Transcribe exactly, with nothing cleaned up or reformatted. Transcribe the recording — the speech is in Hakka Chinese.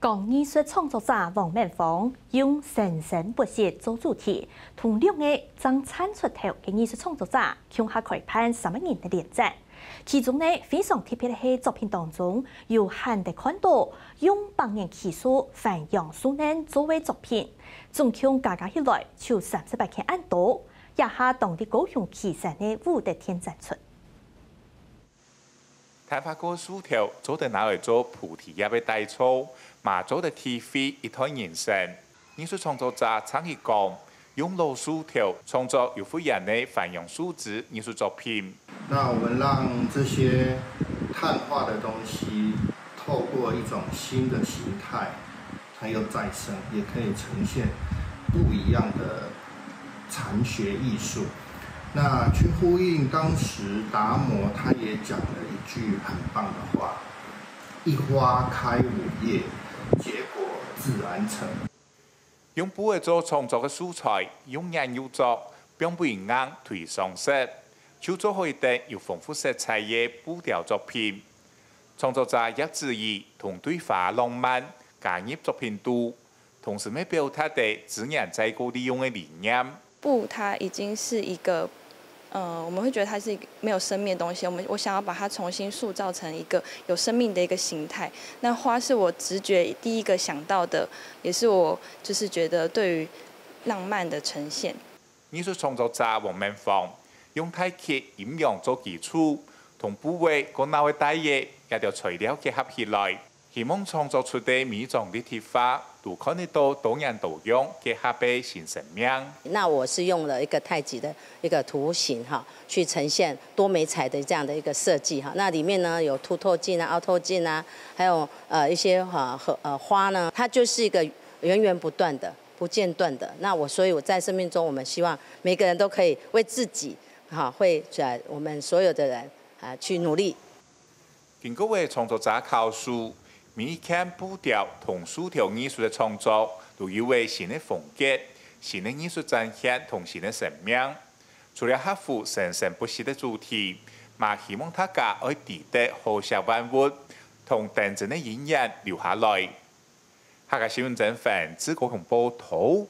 講藝術創作者王滿芳用生生不息做主題，同六個正燦出頭个藝術創作者共下開辦三個人个聯展。其中呢，非常特別个係作品當中有罕得看到用百年奇樹番洋樹奶做个作品，總共加加起來就三十八件恁多，這下當在高雄旗山个武德殿展出。 淡化過个樹頭做得拿來做菩提葉个底座，嘛做得體會一段人生。藝術創作者鄭一光用老樹頭創作有複眼个番洋樹枝藝術作品。那我們讓這些碳化的東西透過一種新的形態，它又再生，也可以呈現不一樣的禅學藝術。那去呼應當時達摩他也講了一句很棒的話：一花開五葉，結果自然成。用布仔做創作个素材，用眼又做，放分人硬推上色，就做好一垤有豐富色彩个布條作品。創作者葉子怡同對花浪漫加入作品肚，同時乜表達了資源再過利用个理念。布它已经是一个，呃，我们会觉得它是一个没有生命的东西，我们我想要把它重新塑造成一个有生命的一个形态。那花是我直觉第一个想到的，也是我就是觉得对于浪漫的呈现。艺术创作者王满芳用大气阴阳做基础，同布仔个脑个大个这条材料结合起来， 希望創作出个每張立體畫都看得到多元多樣結合个新生命。那我是用了一个太极的一个图形哈，去呈现多媒材的这样的一个设计哈。那里面呢有凸透镜啊、凹透镜啊，还有呃一些哈和呃花呢，它就是一个源源不断的、不间断的。那我所以我在生命中，我们希望每个人都可以为自己哈，为呃我们所有的人啊去努力。 经过个创作者考试，每一件布条同树条艺术个创作都有个新个风格、新个艺术展现同新个生命。除了合乎生生不息个主题，嘛希望大家爱知得好惜万物，同等真个因缘留下来。客家新闻曾凡自高雄报道。